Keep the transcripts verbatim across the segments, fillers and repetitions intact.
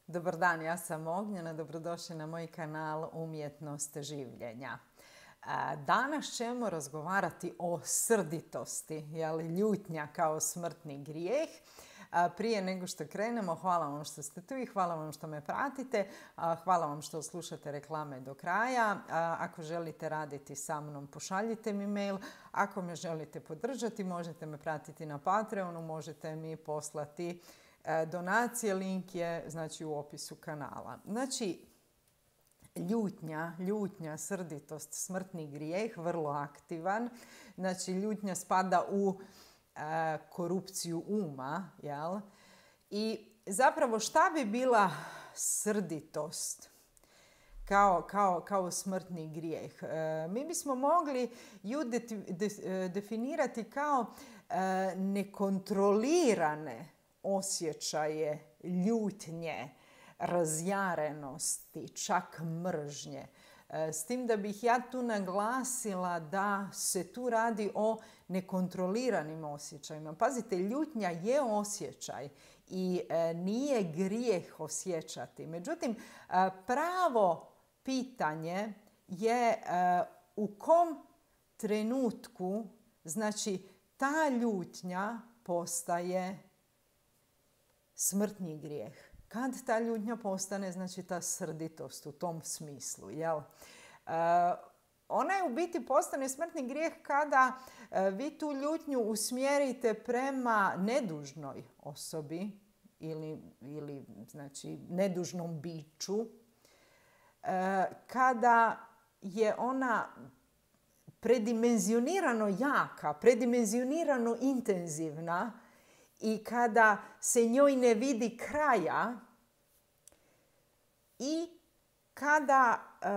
Dobar dan, ja sam Ognjena, dobrodošli na moj kanal Umjetnost življenja. Danas ćemo razgovarati o srditosti, jel, ljutnja kao smrtni grijeh. Prije nego što krenemo, hvala vam što ste tu i hvala vam što me pratite. Hvala vam što slušate reklame do kraja. Ako želite raditi sa mnom, pošaljite mi mail. Ako me želite podržati, možete me pratiti na Patreonu, možete mi poslati donacije, link je znači u opisu kanala. Znači, ljutnja, ljutnja, srditost, smrtni grijeh, vrlo aktivan. Znači, ljutnja spada u e, korupciju uma, jel? I zapravo šta bi bila srditost kao, kao, kao smrtni grijeh? E, mi bismo mogli ju de, de, definirati kao e, nekontrolirane osjećaje ljutnje, razjarenosti, čak mržnje. S tim da bih ja tu naglasila da se tu radi o nekontroliranim osjećajima. Pazite, ljutnja je osjećaj i nije grijeh osjećati. Međutim, pravo pitanje je u kom trenutku, znači, ta ljutnja postaje smrtni grijeh. Kad ta ljutnja postane, znači ta srditost u tom smislu, jel? E, ona je u biti postane smrtni grijeh kada e, vi tu ljutnju usmjerite prema nedužnoj osobi ili, ili znači, nedužnom biću, e, kada je ona predimenzionirano jaka, predimenzionirano intenzivna, i kada se njoj ne vidi kraja i kada e,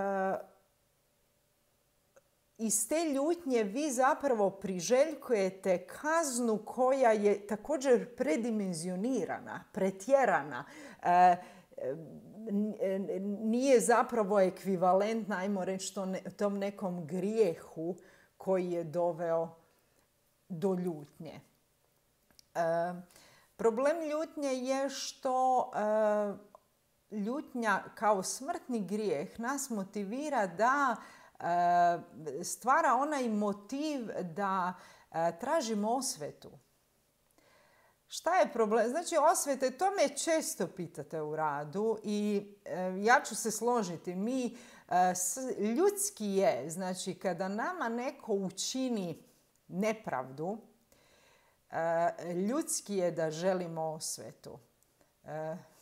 iz te ljutnje vi zapravo priželjkujete kaznu koja je također predimenzionirana, pretjerana, e, nije zapravo ekvivalentna, ajmo reći, tom nekom grijehu koji je doveo do ljutnje. E, problem ljutnje je što e, ljutnja kao smrtni grijeh nas motivira da e, stvara onaj motiv da e, tražimo osvetu. Šta je problem? Znači, osvete, to me često pitate u radu i e, ja ću se složiti. Mi, e, s, ljudski je, znači, kada nama neko učini nepravdu, Uh, ljudski je da želimo osvetu. Uh,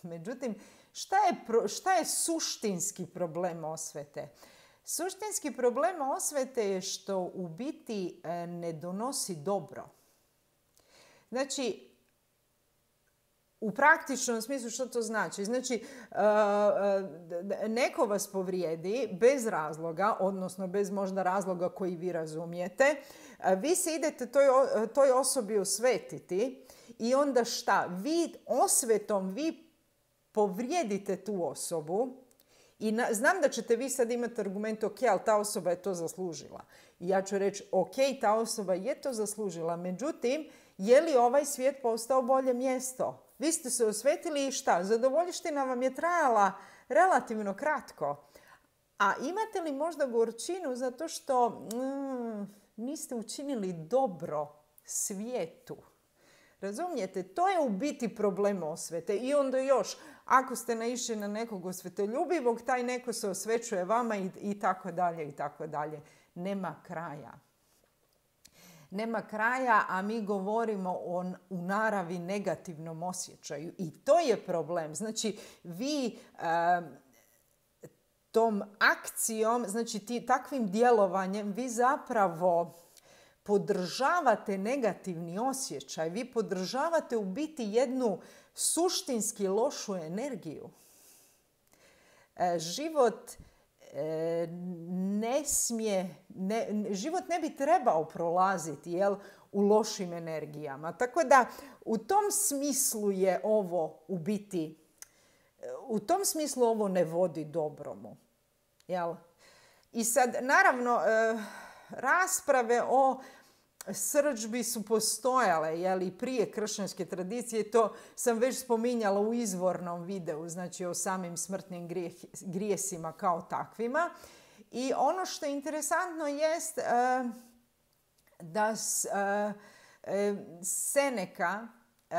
međutim, šta je, pro, šta je suštinski problem osvete? Suštinski problem osvete je što u biti uh, ne donosi dobro. Znači, u praktičnom smislu što to znači? Znači, uh, uh, neko vas povrijedi bez razloga, odnosno bez možda razloga koji vi razumijete. Uh, vi se idete toj, toj osobi osvetiti i onda šta? Vi osvetom vi povrijedite tu osobu i na, znam da ćete vi sad imati argument, ok, ali ta osoba je to zaslužila. I ja ću reći, ok, ta osoba je to zaslužila, međutim, je li ovaj svijet postao bolje mjesto? Vi ste se osvetili i šta? Zadovoljština vam je trajala relativno kratko. A imate li možda gorčinu zato što mm, niste učinili dobro svijetu? Razumijete? To je u biti problem osvete. I onda još, ako ste naišli na nekog osvetoljubivog, taj neko se osvećuje vama i, i tako dalje i tako dalje. Nema kraja. Nema kraja, a mi govorimo o u naravi negativnom osjećaju. I to je problem. Znači, vi e, tom akcijom, znači ti, takvim djelovanjem, vi zapravo podržavate negativni osjećaj. Vi podržavate u biti jednu suštinski lošu energiju. E, život ne smije, ne, život ne bi trebao prolaziti, jel, u lošim energijama. Tako da u tom smislu je ovo u biti, u tom smislu ovo ne vodi dobromu. Jel? I sad, naravno, rasprave o srdžbi su postojale, jeli, prije kršćanske tradicije. To sam već spominjala u izvornom videu, znači o samim smrtnim grijeh, grijesima kao takvima. I ono što je interesantno jest uh, da s, uh, Seneca uh,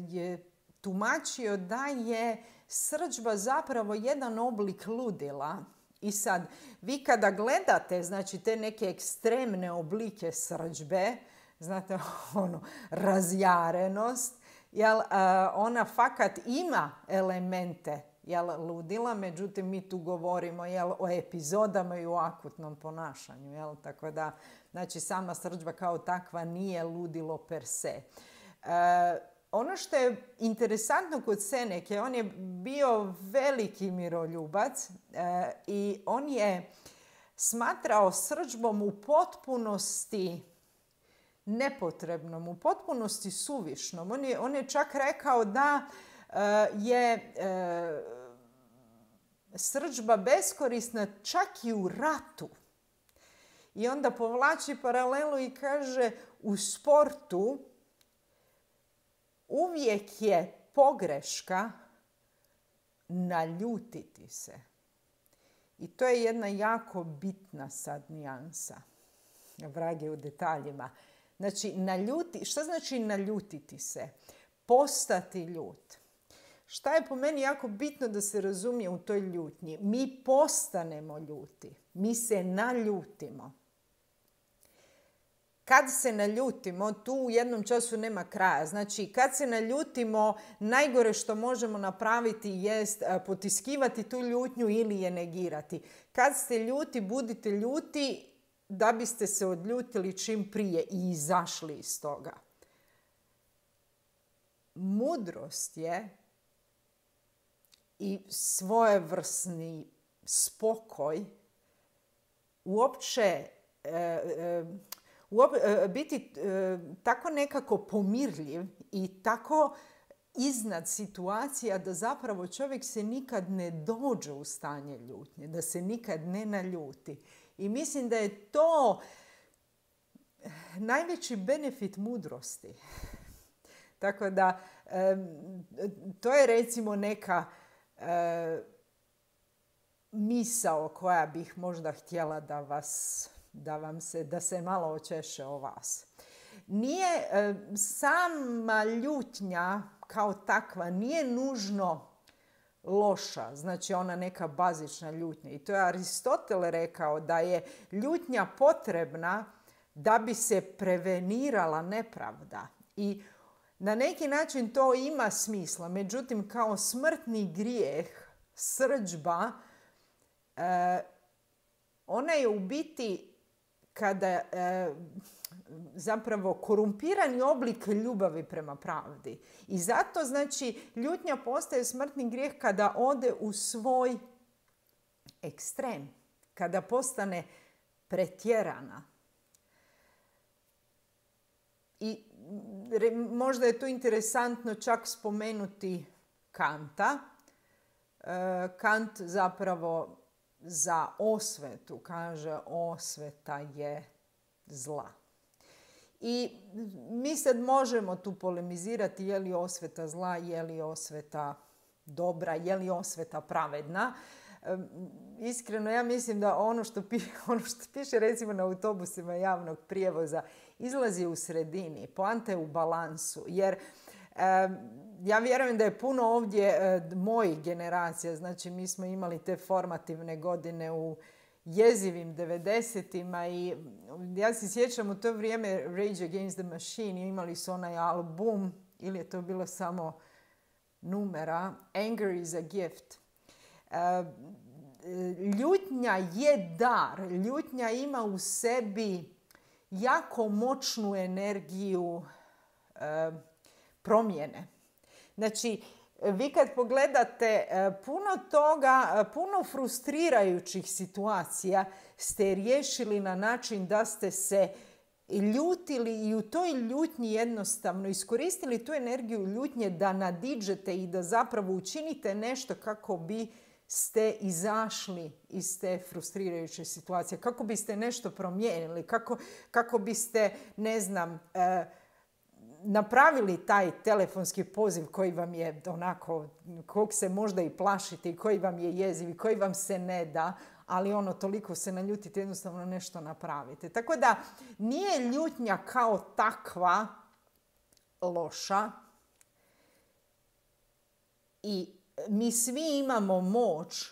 je tumačio da je srdžba zapravo jedan oblik ludila. I sad, vi kada gledate, znači, te neke ekstremne oblike srdžbe, znate, ono, razjarenost, jel, ona fakat ima elemente, jel, ludila, međutim, mi tu govorimo, jel, o epizodama i o akutnom ponašanju, jel, tako da, znači, sama srdžba kao takva nije ludilo per se. E, Ono što je interesantno kod Seneke, on je bio veliki miroljubac e, i on je smatrao srdžbom u potpunosti nepotrebnom, u potpunosti suvišnom. On je, on je čak rekao da e, je e, srdžba beskorisna čak i u ratu. I onda povlači paralelu i kaže u sportu uvijek je pogreška naljutiti se. I to je jedna jako bitna sad nijansa. Vrag je u detaljima. Znači, naljuti, šta znači naljutiti se? Postati ljut. Šta je po meni jako bitno da se razumije u toj ljutnji? Mi postanemo ljuti. Mi se naljutimo. Kad se naljutimo, tu u jednom času nema kraja. Znači, kad se naljutimo, najgore što možemo napraviti jest potiskivati tu ljutnju ili je negirati. Kad ste ljuti, budite ljuti da biste se odljutili čim prije i izašli iz toga. Mudrost je i svojevrsni spokoj uopće e, e, biti e, tako nekako pomirljiv i tako iznad situacija da zapravo čovjek se nikad ne dođe u stanje ljutnje, da se nikad ne naljuti. I mislim da je to najveći benefit mudrosti. Tako da e, to je recimo neka e, misao koja bih možda htjela da vas da vam se, da se malo očeše o vas. Nije e, sama ljutnja kao takva nije nužno loša, znači ona neka bazična ljutnja. I to je Aristotel rekao da je ljutnja potrebna da bi se prevenirala nepravda. I na neki način to ima smisla. Međutim, kao smrtni grijeh, srdžba, e, ona je u biti kada e, zapravo korumpirani oblik ljubavi prema pravdi. I zato, znači, ljutnja postaje smrtni grijeh kada ode u svoj ekstrem, kada postane pretjerana. I re, možda je tu interesantno čak spomenuti Kanta. E, Kant zapravo za osvetu kaže osveta je zla. I mi sad možemo tu polemizirati je li osveta zla, je li osveta dobra, je li osveta pravedna. E, iskreno ja mislim da ono što, pi, ono što piše recimo na autobusima javnog prijevoza izlazi u sredini, poanta je u balansu. Jer e, ja vjerujem da je puno ovdje e, mojih generacija, znači mi smo imali te formativne godine u jezivim devedesetima i ja se sjećam u to vrijeme Rage Against the Machine, imali su onaj album, ili je to bilo samo numera, Anger is a Gift. E, ljutnja je dar, ljutnja ima u sebi jako moćnu energiju e, promjene. Znači, vi kad pogledate puno toga, puno frustrirajućih situacija ste riješili na način da ste se ljutili i u toj ljutnji jednostavno iskoristili tu energiju ljutnje da nadiđete i da zapravo učinite nešto kako bi ste izašli iz te frustrirajuće situacije, kako biste nešto promijenili, kako, kako biste, ne znam, e, napravili taj telefonski poziv koji vam je onako, kog se možda i plašite i koji vam je jeziv i koji vam se ne da, ali ono, toliko se naljutite, jednostavno nešto napravite. Tako da nije ljutnja kao takva loša i mi svi imamo moć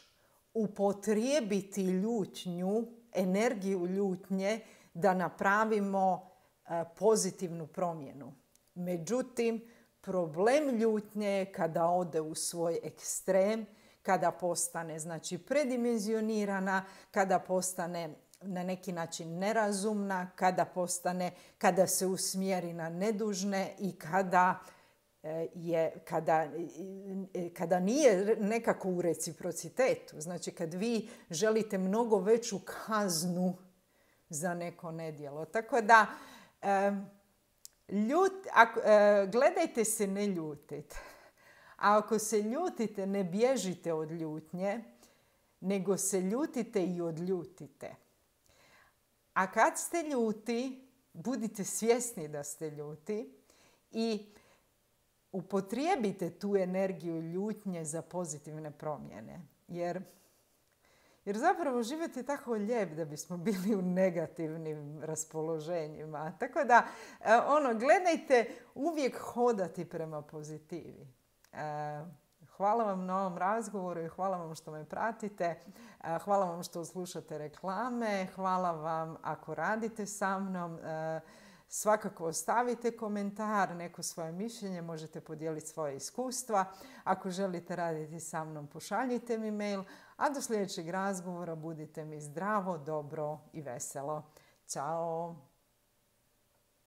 upotrijebiti ljutnju, energiju ljutnje da napravimo pozitivnu promjenu. Međutim, problem ljutnje je kada ode u svoj ekstrem, kada postane, znači, predimenzionirana, kada postane na neki način nerazumna, kada postane, kada se usmjeri na nedužne i kada je, kada, kada nije nekako u reciprocitetu. Znači, kad vi želite mnogo veću kaznu za neko nedjelo. Tako da, ljut, ako, gledajte se ne ljutite. A ako se ljutite, ne bježite od ljutnje, nego se ljutite i odljutite. A kad ste ljuti, budite svjesni da ste ljuti i upotrijebite tu energiju ljutnje za pozitivne promjene. Jer, jer zapravo život je tako lijep da bismo bili u negativnim raspoloženjima. Tako da, ono, gledajte uvijek hodati prema pozitivi. Hvala vam na ovom razgovoru i hvala vam što me pratite. Hvala vam što slušate reklame. Hvala vam ako radite sa mnom. Svakako ostavite komentar, neko svoje mišljenje, možete podijeliti svoje iskustva. Ako želite raditi sa mnom, pošaljite mi mail. A do sljedećeg razgovora budite mi zdravo, dobro i veselo. Ćao!